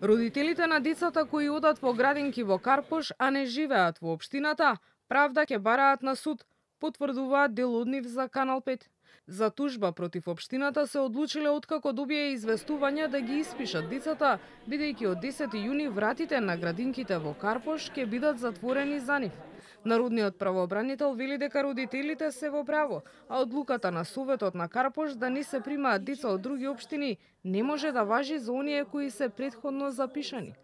Родителите на децата кои одат во градинки во Карпош, а не живеат во општината, правда ќе бараат на суд, потврдуваат дел од нив за Канал 5. За тужба против општината се одлучиле откако добие известување да ги испишат децата, бидејќи од 10 јуни вратите на градинките во Карпош ќе бидат затворени за нив. Народниот правообранител вели дека родителите се во право, а одлуката на Советот на Карпош да не се примаат деца од други општини не може да важи за оние кои се претходно запишани.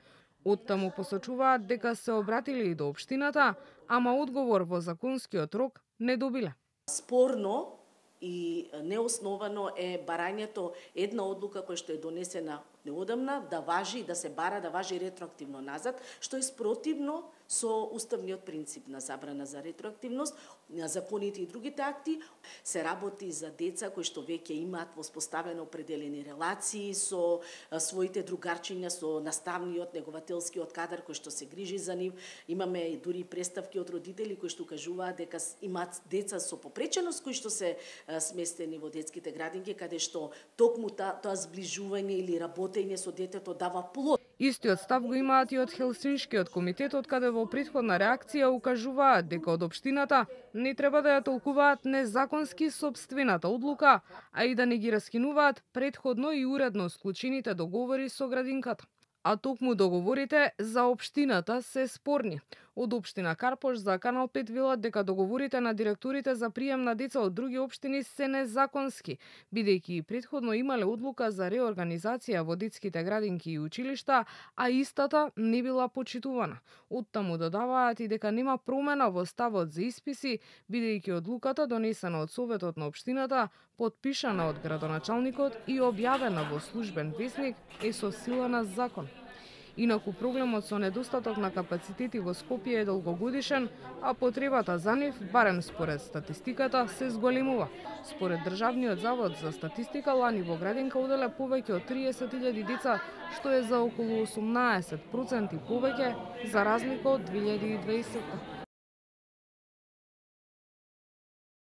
Оттаму посочуваат дека се обратили и до општината, ама одговор во законскиот рок не добиле. Спорно и неосновано е барањето една одлука која што е донесена неодамна да важи, да се бара, да важи ретроактивно назад, што е спротивно со уставниот принцип на забрана за ретроактивност, на законите и другите акти. Се работи за деца кои што веќе имаат воспоставено определени релации со своите другарчиња, со наставниот, негователскиот кадар кој што се грижи за нив. Имаме дури представки од родители кои што кажуваат дека имаат деца со попреченост кои што се сместени во детските градинки, каде што токму тоа зближување или работење со детето дава плод. Истиот став го имаат и од Хелсиншкиот комитет, од каде во претходна реакција укажуваат дека од општината не треба да ја толкуваат незаконски сопствената одлука, а и да не ги раскинуваат претходно и уредно склучените договори со градинката. А токму договорите за општината се спорни. Од општина Карпош за Канал 5 велат дека договорите на директорите за прием на деца од други општини се незаконски, бидејќи и претходно имале одлука за реорганизација во детските градинки и училишта, а истата не била почитувана. Оттаму додаваат и дека нема промена во ставот за исписи, бидејќи одлуката донесена од Советот на општината, потпишана од градоначалникот и објавена во службен весник е со сила на закон. Инаку проблемот со недостаток на капацитети во Скопје е долгогодишен, а потребата за нив, барем според статистиката, се зголемува. Според Државниот завод за статистика, лани во градинка оделе повеќе од 30.000 деца, што е за околу 18% повеќе за разлика од 2020.